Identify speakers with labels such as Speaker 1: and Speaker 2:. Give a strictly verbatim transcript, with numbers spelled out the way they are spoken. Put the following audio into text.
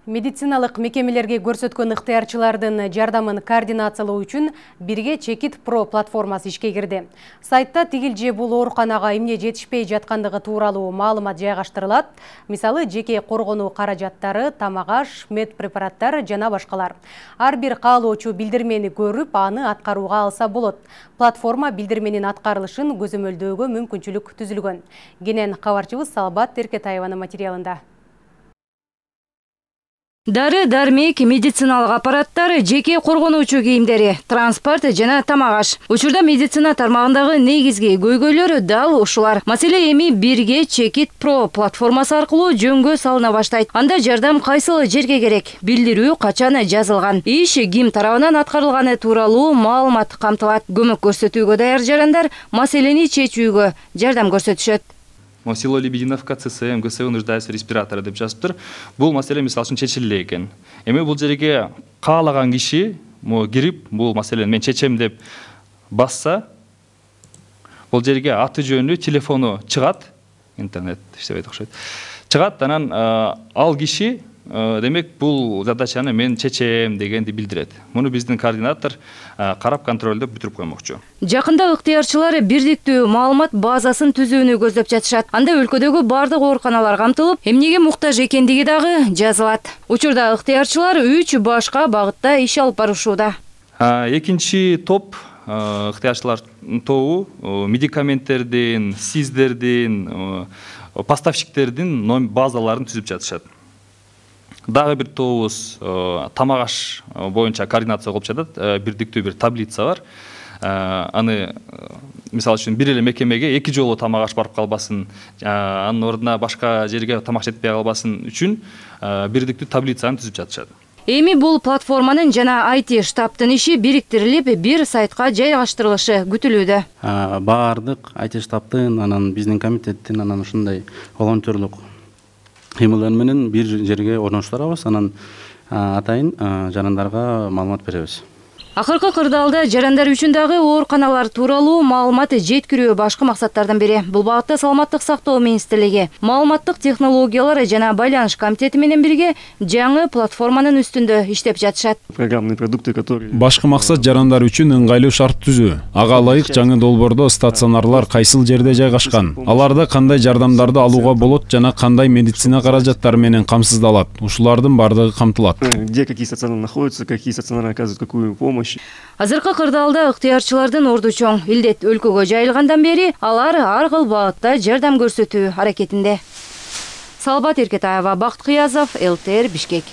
Speaker 1: Медициналык мекемелерге көрсөткөн ыктыярчылардын жардамын координациялоо үчүн Бирге Чекит Про платформасы ишке кирди. Сайтта тигил же бул ооруканага эмне жетишпей жаткандыгы тууралуу маалымат жайгаштырылат. Мисалы, жеке коргонуу каражаттары, тамак-аш, медпрепараттар жана башкалар. Ар бир каалоочу билдирмени көрүп, аны аткарууга алса болот. Платформа билдирменин аткарылышын көзөмөлдөөгө мүмкүнчүлүк түзүлгөн. Кенен кабарчыбыз Салбат Эркетаеванын материалында.
Speaker 2: Дары, дармек, медициналык аппараттар, жеке коргонуучу кийимдери, транспорт жана тамак-аш. Учурда медицина тармагындагы негизги көйгөйлөр дал ушулар. Маселе эми Бирге Чекит Про платформасы аркылуу жөнгө салына баштайт. Анда жардам кайсыл жерге керек, билдирүү качан жазылган, иш ким тарабынан аткарылганы тууралуу маалымат камтылат. Көмөк көрсөтүүгө даяр жарандар маселени чечүүгө жардам көрсөтүшөт.
Speaker 3: Село Лебединовка, ЦСМ, ГСУ нуждается в респираторе деп жазыптыр. Бул маселе мисалы үчүн чечиле экен. Эми бул жерге каалаган киши кирип, бул маселени мен чечем деп басса, бул жерге аты жөнү, телефону чыгат, интернет иштебейт окшойт. Чыгат, анан ал киши демек бул задачаны мен чечем дегенди билдирет. Муну биздин координатор карап контролдоп бүтүрүп коймокчу.
Speaker 2: Жакында ыктыярчылар бирдиктүү маалымат базасын түзүүнү көздөп жатышат. Анда өлкөдөгү бардык ооруканалар камтылып, эмнеге муктаж экендиги дагы жазылат. Учурда ыктыярчылар үч башка багытта иш алып барышууда.
Speaker 3: Экинчи топ ыктыярчылар тобу медикаменттердин, сиздердин, поставщиктердин базаларын түзүп жатышат. Дагы бир тобубуз тамак-аш боюнча координация кылып жатат. Бирдиктүү бир таблица бар. Аны мисалы үчүн бир эле мекемеге эки жолу тамак-аш барып калбасын, анын ордуна башка жерге тамак жетпей калбасын үчүн бирдиктүү таблицаны түзүп жатышат.
Speaker 2: Эми бул платформанын жана ай ти штабтын иши бириктирилип, бир сайтка жайгаштырылышы күтүлүүдө.
Speaker 4: Бардык ай ти штабтын, анан биздин комитеттин, анан ушундай волонтерлук кыймылдар менен бир жерге орноштурабыз, анан атайын жарандарга маалымат беребиз.
Speaker 2: Акыркы кырдаалда жарандар үчүн дагы ооруканалар тууралуу маалымат жеткирүү башкы максаттардан бири. Бул багытта Саламаттык сактоо министрлиги, маалыматтык технологиялар жана байланыш комитети менен бирге жаңы платформанын үстүндө иштеп жатышат.
Speaker 5: Программный продукты, которые
Speaker 6: башкы максат жарандар үчүн ыңгайлуу шарт түзүү. Ага ылайык жаңы долбоордо стационарлар кайсыл жерде жайгашкан, аларда кандай жардамдарды алууга болот жана кандай медицина каражаттары менен камсыздалат. Ушулардын бардыгы камтылат.
Speaker 5: Где какие стационары находятся, какие стационары оказывают какую помощь.
Speaker 2: Азыркы кырдаалда ыктыярчылардын орду чоң. Илдет өлкөгө жайылгандан бери алар ар кыл багытта жардам көрсөтүү аракетинде. Салбат Эркетаева, Бакыт Кыязов, эл тэ эр, Бишкек.